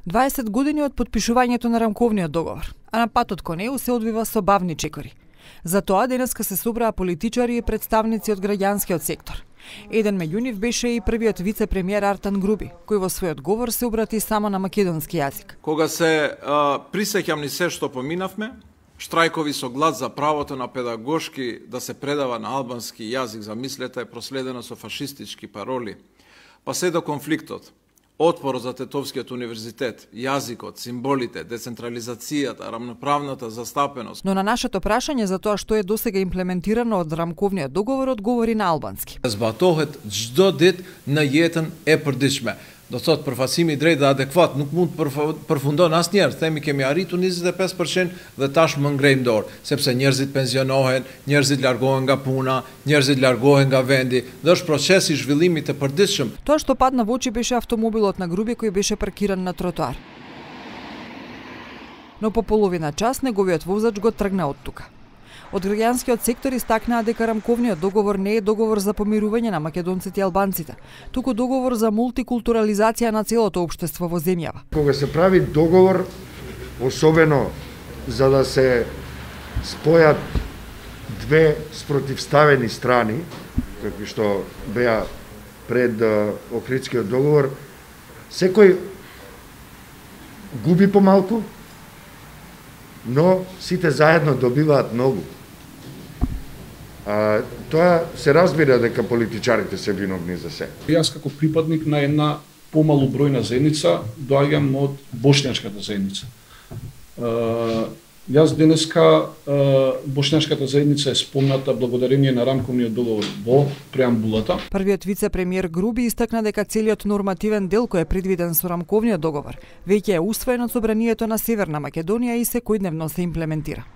20 години од подпишувањето на рамковниот договор, а на патот кон него се одвива со бавни чекори. Затоа денеска се собраа политичари и представници од граѓанскиот сектор. Еден меѓу нив беше и првиот вице-премиер Артан Груби, кој во својот говор се обрати само на македонски јазик. Кога се присеќам ни се што поминавме, штрајкови со глас за правото на педагошки да се предава на албански јазик, замислете, е проследено со фашистички пароли, па се до конфликтот, отпор за Тетовскиот универзитет, јазикот, символите, децентрализацијата, рамноправната застапеност. Но на нашето прашање за тоа што е досега имплементирано од рамковниот договор одговори на албански. Zbatohet çdo ditë në jetën e përditshme. Do thot përfaqësimi i drejtë dhe adekuat nuk mund të përfundon asnjëherë. Themi kemi arritur 25% dhe tash më ngrejmë dorë, sepse njerëzit pensionohen, njerëzit largohen nga puna, njerëzit largohen nga vendi, dhe është procesi i zhvillimit të përditshëm. Тоа што падна во очи беше автомобилот на Груби кој беше паркиран на тротоар. Но по половина час неговиот возач го тргна од тука. Од граѓанскиот сектор истакнаа дека рамковниот договор не е договор за помирување на македонците и албанците, туку договор за мултикултурализација на целото општество во земјава. Кога се прави договор, особено за да се спојат две спротивставени страни, какви што беа пред Охридскиот договор, секој губи помалку, но сите заедно добиваат многу. Тоа се разбира дека политичарите се виновни за се. Јас како припадник на една помалу бројна заедница доаѓам од бошњачката заедница. Јас денеска бошњачката заедница е спомната благодарение на рамковниот договор во преамбулата. Првиот вице-премиер Груби истакна дека целиот нормативен дел кој е предвиден со рамковниот договор веќе е усвоен од собранието на Северна Македонија и секојдневно се имплементира.